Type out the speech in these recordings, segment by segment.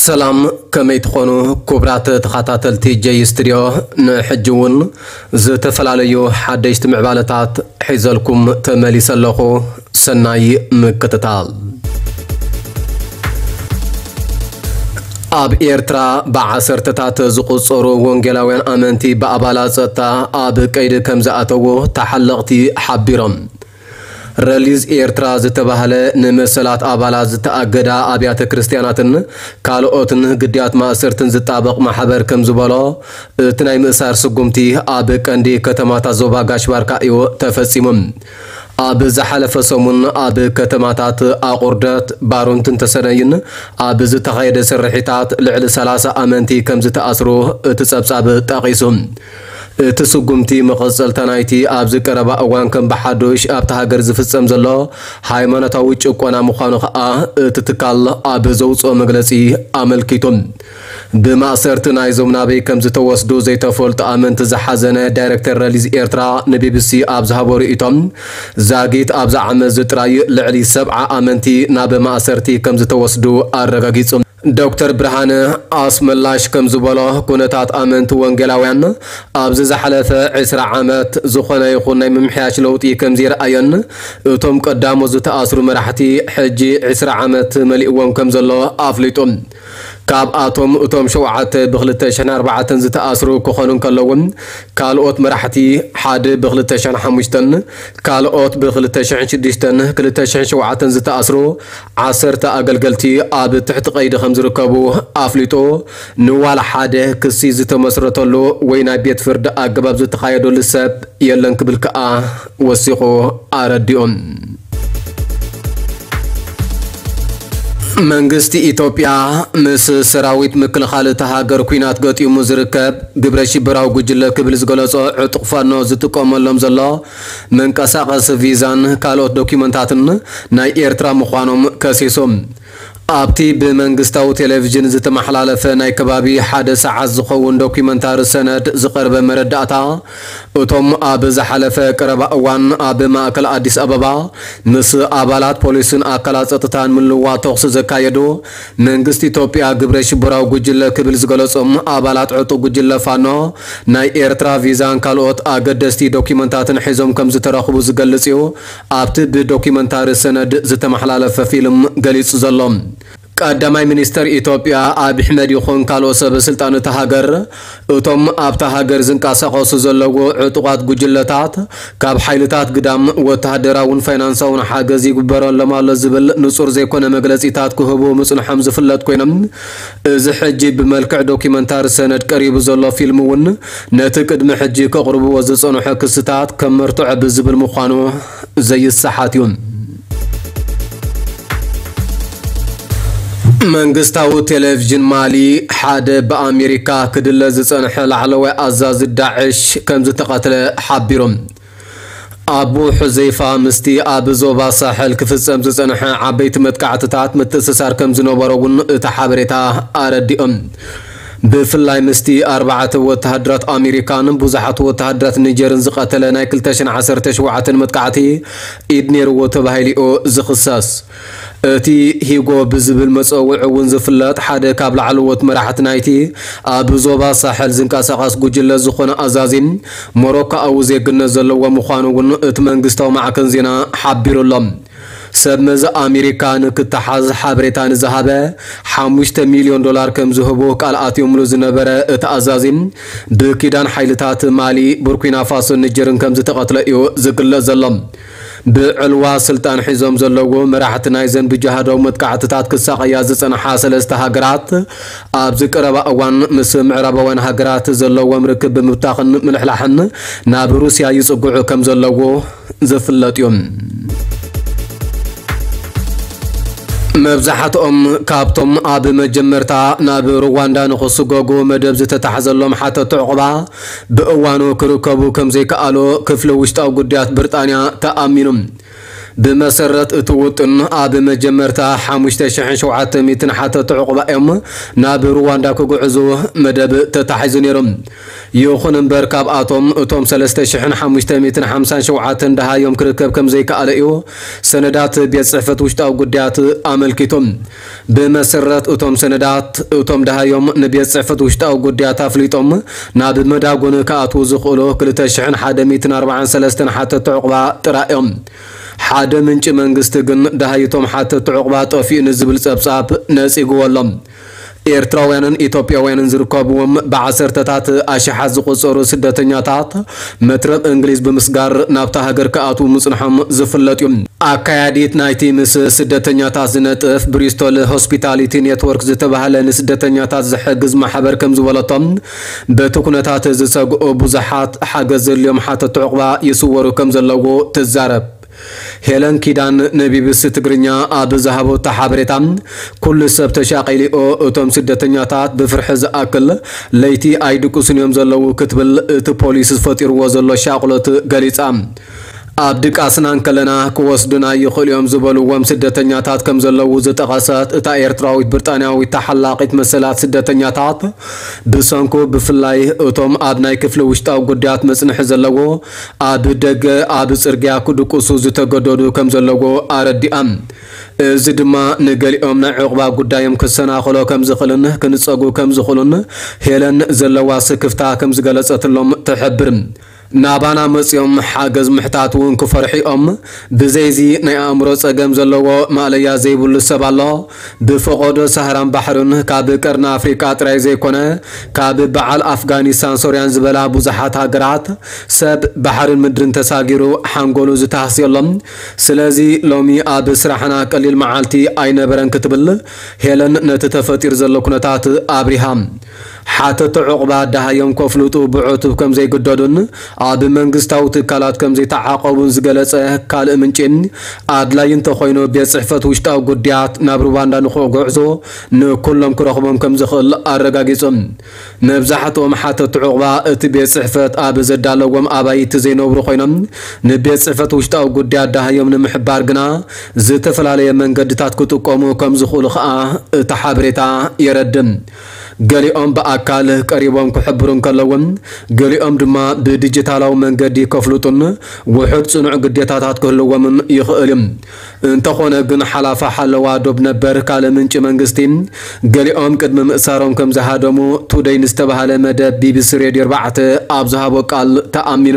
ሰላም፣ ከመይ ትኾኑ ክቡራት ተኸታተልቲ ጀይ ስቱድዮ? ንሕጂ እውን ዝተፈላለዩ ሓደሽቲ ምዕባለታት ሒዘልኩም ተመሊሰ ኣለኹ። ሰናይ ምክትታል። ኣብ ኤርትራ ብዓሰርተታት ዝቑጸሩ ወንጌላውያን ኣመንቲ ብኣባላት ጸጥታ ኣብ ቀይዲ ከም ዝኣተዉ ተሓለቕቲ ሓቢሮም። ረሊዝ ኤርትራ ዝተባህለ ንመሰላት ኣባላት ዝተኣገዳ ኣብያተ ክርስትያናትን ካልኦትን ግዳያት ማእሰርትን ዝጣበቕ ማሕበር ከም ዝበሎ፣ እቲ ናይ ምእሳር ስጉምቲ ኣብ ቀንዲ ከተማታት ዞባ ጋሽ ባርካ እዩ ተፈጺሙ። ኣብ ዝሓለፈ ሰሙን ኣብ ከተማታት ኣቑርደት፣ ባሩንትን ተሰነይን ኣብ ዝተኻየደ ስርሒታት ልዕሊ ሰላሳ ኣመንቲ ከም ዝተኣስሩ እቲ ጸብጻብ ጠቒሱ። እቲ ስጉምቲ መቐጸልታ ናይቲ ኣብዚ ቀረባ እዋን ከም ብሓዱሽ ኣብታ ሃገር ዝፍጸም ዘሎ ሃይማኖታዊ ጭቆና ምዃኑ ከኣ እቲ ትካል ኣብ ዘውጽኦ መግለጺ ኣመልኪቱ። ብማእሰርቲ ናይዞም ናበይ ከም ዝተወስዱ ዘይተፈልጡ ኣመንቲ ዝሓዘነ ዳይሬክተር ረሊዝ ኤርትራ ንቢቢሲ ኣብ ዝሃቦ ርእይቶ፣ ዛጊት ኣብዚ ዓመት እዚ ጥራይ ልዕሊ ሰብዓ ኣመንቲ ናብ ማእሰርቲ ከም ዝተወስዱ ኣረጋጊጹ። ዶክተር ብርሃነ ኣስመላሽ ከም ዝበሎ፣ ኩነታት ኣመንቲ ወንጌላውያን ኣብዚ ዝሓለፈ ዕስራ ዓመት ዝኾነ ይኹን ናይ ምምሕያሽ ለውጢ ከም ዘይረኣየን፣ እቶም ቀዳሞት ዝተኣስሩ መራሕቲ ሕጂ ዕስራ ዓመት መሊእዎም ከም ዘሎ ኣፍሊጡ። ካብኣቶም እቶም ሸውዓተ ብ ክልተ ሽሕን ኣርባዕተን ዝተኣስሩ ክኾኑ እንከለዉ፣ ካልኦት መራሕቲ፣ ሓደ ብ ክልተ ሽሕን ሓሙሽተን፣ ካልኦት ብ ክልተ ሽሕን ሽዱሽተን፣ ክልተ ሽሕን ሸውዓተን ዝተኣስሩ ዓሰርተ ኣገልገልቲ ኣብ ትሕቲ ቀይዲ ከም ዝርከቡ ኣፍሊጡ። ንዋላ ሓደ ክሲ ዝተመስረተሉ ወይ ናይ ቤት ፍርዲ ኣገባብ ዝተኻየደሉ ሰብ የለን ክብል ከኣ ወሲኹ ኣረዲኡ። መንግስቲ ኢትዮጵያ ምስ ሰራዊት ምክልኻል እታ ሃገር ኲናት ገጢሙ ዝርከብ ግብረ ሽበራዊ ጉጅለ ክብል ዝገለጾ ዕጡቕ ፋኖ ዝጥቀመሎም ዘሎ መንቀሳቐሲ ቪዛን ካልኦት ዶኪመንታትን ናይ ኤርትራ ምዃኖም ከሲሱ። ኣብቲ ብመንግስታዊ ቴሌቪዥን ዝተመሓላለፈ ናይ ከባቢ ሓደ ሰዓት ዝኸውን ዶኪመንታሪ ሰነድ ዝቐርበ መረዳእታ፣ እቶም ኣብ ዝሓለፈ ቀረባ እዋን ኣብ ማእከል ኣዲስ ኣበባ ምስ ኣባላት ፖሊስን ኣካላት ጸጥታን ምልውዋጥ ተኹሲ ዘካየዱ መንግስቲ ኢትዮጵያ ግብረ ሽበራዊ ጉጅለ ክብል ዝገለጾም ኣባላት ዕጡቕ ጉጅለ ፋኖ ናይ ኤርትራ ቪዛን ካልኦት ኣገደስቲ ዶኪመንታትን ሒዞም ከም ዝተረኽቡ ዝገልጽ እዩ። ኣብቲ ብዶኪመንታሪ ሰነድ ዝተመሓላለፈ ፊልም ገሊጹ ዘሎ። ቀዳማይ ሚኒስተር ኢትዮጵያ ኣብይ ኣሕመድ ይኹን ካልኦት ሰበ ስልጣን እታ ሃገር፣ እቶም ኣብታ ሃገር ዝንቀሳቐሱ ዘለዉ ዕጡቓት ጉጅለታት ካብ ሓይልታት ግዳም ወተሃደራውን ፋይናንሳውን ሓገዝ ይግበረሎም ኣሎ ዝብል ንጹር ዘይኮነ መግለጺታት ክህቡ ምጽንሖም ዝፍለጥ ኮይኖም፣ እዚ ሕጂ ብመልክዕ ዶኪመንታሪ ሰነድ ቀሪቡ ዘሎ ፊልም እውን ነቲ ቅድሚ ሕጂ ከቕርብዎ ዝጸንሑ ክስታት ከም መርትዖ ብዝብል ምዃኑ ዘይሰሓት እዩ። መንግስታዊ ቴሌቪዥን ማሊ ሓደ ብኣሜሪካ ክድለ ዝጸንሐ ላዕለዋይ ኣዛዚ ዳዕሽ ከም ዝተቐትለ ሓቢሩ። ኣቡ ሑዘይፋ ምስቲ ኣብ ዞባ ሳሕል ክፍጸም ዝጸንሐ ዓበይቲ መጥቃዕትታት ምትእስሳር ከም ዝነበሮ እውን እቲ ሓበሬታ ኣረዲኦም። ብፍላይ ምስቲ ኣርባዕተ ወተሃደራት ኣሜሪካን ብዙሓት ወተሃደራት ኒጀርን ዝቐተለ ናይ ክልተ ሽሕን ዓሰርተ ሸውዓተን መጥቃዕቲ ኢድ ነይርዎ ተባሂሉ እዩ ዝኽሰስ። እቲ ሂጎ ብዝብል መጸውዒ እውን ዝፍለጥ ሓደ ካብ ላዕለዎት መራሕቲ ናይቲ ኣብ ዞባ ሳሕል ዝንቀሳቐስ ጉጅለ ዝኾነ ኣዛዚ ሞሮኮኣዊ ዜግነት ዘለዎ ምዃኑ እውን እቲ መንግስታዊ ማዕከን ዜና ሓቢሩ ኣሎ። ሰብ መዚ ኣሜሪካ ንክተሓዝ ሓበሬታ ንዝሃበ ሓሙሽተ ሚልዮን ዶላር ከም ዝህቡ ቃል ኣትዮምሉ ዝነበረ እቲ ኣዛዚ፣ ብኪዳን ሓይልታት ማሊ፣ ቡርኪና ፋሶን ኒጀርን ከም ዝተቐትለ እዩ ዝግለጽ ዘሎ። ብዕልዋ ስልጣን ሒዞም ዘለዉ መራሕቲ ናይዘን ብጅሃዳዊ መጥቃዕትታት ክሳቐያ ዝጸንሓ ሰለስተ ሃገራት፣ ኣብዚ ቀረባ እዋን ምስ ምዕራባውያን ሃገራት ዘለዎም ርክብ ብምብታኽን ምልሕላሕን ናብ ሩስያ ይጽግዑ ከም ዘለዉ ዝፍለጥ እዩ። መብዛሕትኦም ካብቶም ኣብ መጀመርታ ናብ ሩዋንዳ ንኽስጎጉ መደብ ዝተታሕዘሎም ሓተቲ ዕቑባ ብእዋኑ ክርከቡ ከም ዘይከኣሉ ክፍሊ ውሽጣዊ ጉዳያት ብሪጣንያ ተኣሚኑ። ብመሰረት እቲ ውጥን፣ ኣብ መጀመርታ ሓሙሽተ ሽሕን ሸውዓተ ሚእትን ሓተቲ ዑቕባ እዮም ናብ ሩዋንዳ ክጉዕዙ መደብ ተታሒዙ ነይሩ። ይኹን እምበር፣ ካብኣቶም እቶም ሰለስተ ሽሕን ሓሙሽተ ሚእትን ሓምሳን ሸውዓተን ደሃዮም ክርከብ ከም ዘይከኣለ እዩ ሰነዳት ቤት ጽሕፈት ውሽጣዊ ጉዳያት ኣመልኪቱ። ብመሰረት እቶም ሰነዳት፣ እቶም ደሃዮም ንቤት ጽሕፈት ውሽጣዊ ጉዳያት ኣፍሊጦም ናብ መዳጎኒ ክኣትዉ ዝኽእሉ ክልተ ሽሕን ሓደ ሚእትን ኣርባዓን ሰለስተን ሓተቲ ዑቕባ ጥራይ እዮም። ሓደ ምንጪ መንግስቲ ግን ደሃይቶም ሓተቲ ዑቕባ ጠፊኡ ንዝብል ጸብጻብ ነጺግዎ ኣሎ። ኤርትራውያንን ኢትዮጵያውያንን ዝርከብዎም ብዓሰርተታት ኣሽሓት ዝቑጸሩ ስደተኛታት መትረብ እንግሊዝ ብምስጋር ናብታ ሃገር ክኣትዉ ምጽንሖም ዝፍለጥ እዩ። ኣካያዲት ናይቲ ምስ ስደተኛታት ዝነጥፍ ብሪስቶል ሆስፒታሊቲ ኔትወርክ ዝተባህለ ንስደተኛታት ዝሕግዝ ማሕበር ከም ዝበለቶም፣ በቲ ኩነታት ዝሰግኡ ብዙሓት ሓገዝ ዘድልዮም ሓተቲ ዑቕባ ይስወሩ ከም ዘለዉ ትዛረብ። ሄለን ኪዳን ንቢቢሲ ትግርኛ ኣብ ዝሃበቶ ሓበሬታ፣ "ኩሉ ሰብ ተሻቒሉ'ዩ፣ እቶም ስደተኛታት ብፍርሒ ዝኣክል ለይቲ ኣይድቅሱን እዮም ዘለዉ" ክትብል እቲ ፖሊስ ዝፈጢርዎ ዘሎ ሻቕሎት ገሊጻ። "ኣብ ድቃስና እንከለና ክወስዱና ይኽእሉ እዮም" ዝበልዎም ስደተኛታት ከም ዘለዉ ዝጠቐሰት እታ ኤርትራዊት ብሪጣንያዊት ተሓላቒት መሰላት ስደተኛታት፣ ብሰንኩ ብፍላይ እቶም ኣብ ናይ ክፍሊ ውሽጣዊ ጉዳያት መጽንሒ ዘለዎ ኣብ ደገ ኣብ ጽርግያ ክድቅሱ ዝተገደዱ ከም ዘለዎ ኣረዲኣ። እዚ ድማ ንገሊኦም ናይ ዕቑባ ጉዳዮም ክሰናኸሎ ከም ዝኽእልን ክንጸጉ ከም ዝኽእሉን ሄለን ዘለዋ ስክፍታ ከም ዝገለጸትሎም ትሕብር። ናባና መጺኦም ሓገዝ ምሕታት እውን ክፈርሑ እዮም። ብዘይዚ ናይ ኣእምሮ ጸገም ዘለዎ ማእለያ ዘይብሉ ሰብ ኣሎ። ብፈቐዶ ሳህራን ባሕርን ካብ ቀርኒ ኣፍሪቃ ጥራይ ዘይኮነ፣ ካብ በዓል ኣፍጋኒስታን ሶርያን ዝበላ ብዙሓት ሃገራት ሰብ ባሕርን ምድርን ተሳጊሩ ሓንጎሉ ዝተሃስየሎም። ስለዚ ሎሚ ኣብ ስራሕና ቀሊል መዓልቲ ኣይነበረን ክትብል ሄለን ነቲ ተፈጢሩ ዘሎ ኩነታት ኣብሪሃ። ሓተቲ ዑቕባ ደሃዮም ከፍልጡ ብዕቱብ ከም ዘይግደዱን ኣብ መንግስታዊ ትካላት ከም ዘይተዓቐቡን ዝገለጸ ካልእ ምንጪ፣ ኣድላዪ እንተኾይኑ ቤት ጽሕፈት ውሽጣዊ ጉዳያት ናብ ሩዋንዳ ንኽጉዕዞ ንኩሎም ክረኽቦም ከም ዝኽእል ኣረጋጊጹ። መብዛሕትኦም ሓተቲ ዑቕባ እቲ ቤት ጽሕፈት ኣብ ዘዳለዎም ኣባይቲ ዘይነብሩ ኮይኖም፣ ንቤት ጽሕፈት ውሽጣዊ ጉዳያት ደሃዮም ንምሕባር ግና ዝተፈላለየ መንገድታት ክጥቀሙ ከም ዝኽእሉ ኸኣ እቲ ሓበሬታ የረድእ። ገሊኦም ብኣካል ቀሪቦም ክሕብሩ እንከለውን፣ ገሊኦም ድማ ብዲጂታላዊ መንገዲ ከፍልጡን ውሑድ ጽኑዕ ግዴታታት ክህልዎምን ይኽእል እዩ። እንተኾነ ግን፣ ሓላፊ ሓለዋ ዶብ ነበር ካልእ ምንጪ መንግስቲ፣ ገሊኦም ቅድሚ ምእሳሮም ከም ዝሃደሙ ቱደይ ንዝተባህለ መደብ ቢቢሲ ሬድዮ ኣርባዕተ ኣብ ዝሃቦ ቃል ተኣሚኑ።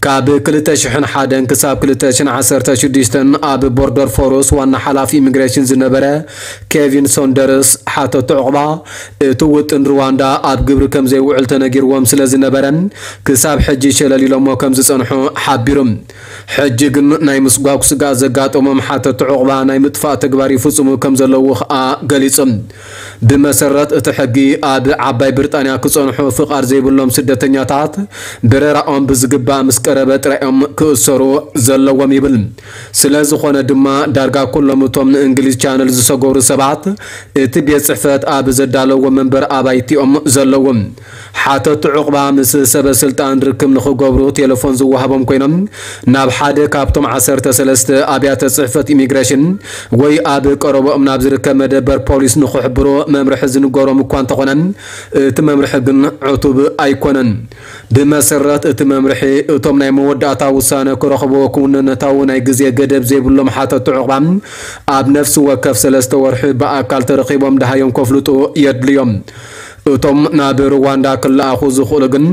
ካብ ክልተ ሽሕን ሓደን ክሳብ ክልተ ሽሕን ዓሰርተ ሽዱሽተን ኣብ ቦርደር ፎርስ ዋና ሓላፊ ኢሚግሬሽን ዝነበረ ኬቪን ሶንደርስ፣ ሓተቲ ዑቕባ እቲ ውጥን ሩዋንዳ ኣብ ግብሪ ከም ዘይውዕል ተነጊርዎም ስለ ዝነበረ፣ ክሳብ ሕጂ ሸለል ኢሎሞ ከም ዝጸንሑ ሓቢሩ። ሕጂ ግን ናይ ምስጓግ ስግኣት ዘጋጠሞም ሓተቲ ዑቕባ ናይ ምጥፋእ ተግባር ይፍጽሙ ከም ዘለዉ ኸኣ ገሊጹ። ብመሰረት እቲ ሕጊ፣ ኣብ ዓባይ ብሪጣንያ ክጸንሑ ፍቓድ ዘይብሎም ስደተኛታት፣ በረራኦም ብዝግባእ ምስ ቀረበ ጥራይ እዮም ክእሰሩ ዘለዎም ይብል። ስለ ዝኾነ ድማ፣ ዳርጋ ኩሎም እቶም ንእንግሊዝ ቻነል ዝሰገሩ ሰባት፣ እቲ ቤት ጽሕፈት ኣብ ዘዳለዎ መንበር ኣባይቲኦም ዘለዎም። ሓተቲ ዑቕባ ምስ ሰበ ስልጣን ርክብ ንኽገብሩ ቴሌፎን ዝወሃቦም ኮይኖም፣ ናብ ሓደ ካብቶም ዓሰርተ ሰለስተ ኣብያተ ጽሕፈት ኢሚግሬሽን ወይ ኣብ ቀረባኦም ናብ ዝርከብ መደበር ፖሊስ ንኽሕብሩ መምርሒ ዝንገሮም እኳ እንተኾነ፣ እቲ መምርሒ ግን ዕቱብ ኣይኮነን። ብመሰረት እቲ መምርሒ፣ እቶም ናይ መወዳእታ ውሳነ ክረኽቡ ክውንነታዊ ናይ ግዜ ገደብ ዘይብሎም ሓተቲ ዑቕባ፣ ኣብ ነፍሲ ወከፍ ሰለስተ ወርሒ ብኣካል ተረኺቦም ደሃዮም ከፍልጡ የድልዮም። እቶም ናብ ሩዋንዳ ክለኣኹ ዝኽእሉ ግን፣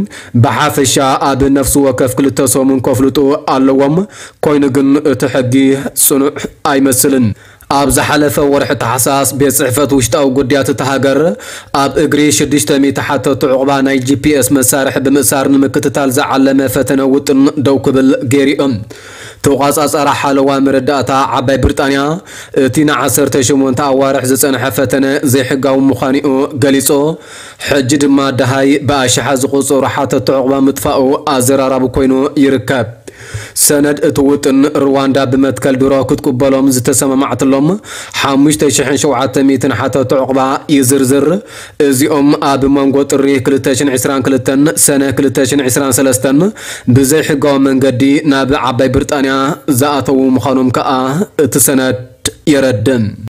ብሓፈሻ ኣብ ነፍሲ ወከፍ ክልተ ሰሙን ከፍልጡ ኣለዎም። ኮይኑ ግን፣ እቲ ሕጊ ጽኑዕ ኣይመስልን። ኣብ ዝሓለፈ ወርሒ ታሕሳስ፣ ቤት ጽሕፈት ውሽጣዊ ጉዳያት እታ ሃገር፣ ኣብ እግሪ ሽዱሽተ ሚእቲ ሓተቲ ዑቕባ ናይ ጂ ፒ ኤስ መሳርሒ ብምእሳር ንምክትታል ዝዓለመ ፈተነ ውጥን ደው ክብል ገይሩ እዩ። ተቖጻጻሪ ሓለዋ መረዳእታ ዓባይ ብሪጣንያ፣ እቲ ንዓሰርተ ሸሞንተ ኣዋርሕ ዝጸንሐ ፈተነ ዘይሕጋዊ ምዃኑ'ዩ ገሊጹ። ሕጂ ድማ ደሃይ ብኣሽሓት ዝቑጸሩ ሓተቲ ዑቕባ ምጥፋኡ ኣዘራራቢ ኮይኑ ይርከብ። ሰነድ እቲ ውጥን ሩዋንዳ ብመትከል ድሮ ክትቅበሎም ዝተሰማማዕትሎም ሓሙሽተ ሽሕን ሸውዓተ ሚእትን ሓተቲ ዕቑባ ይዝርዝር። እዚኦም ኣብ መንጎ ጥሪ ክልተ ሽሕን ዕስራን ክልተን ሰነ ክልተ ሽሕን ዕስራን ሰለስተን ብዘይሕጋዊ መንገዲ ናብ ዓባይ ብሪጣንያ ዝኣተዉ ምዃኖም ከኣ እቲ ሰነድ የረድእ።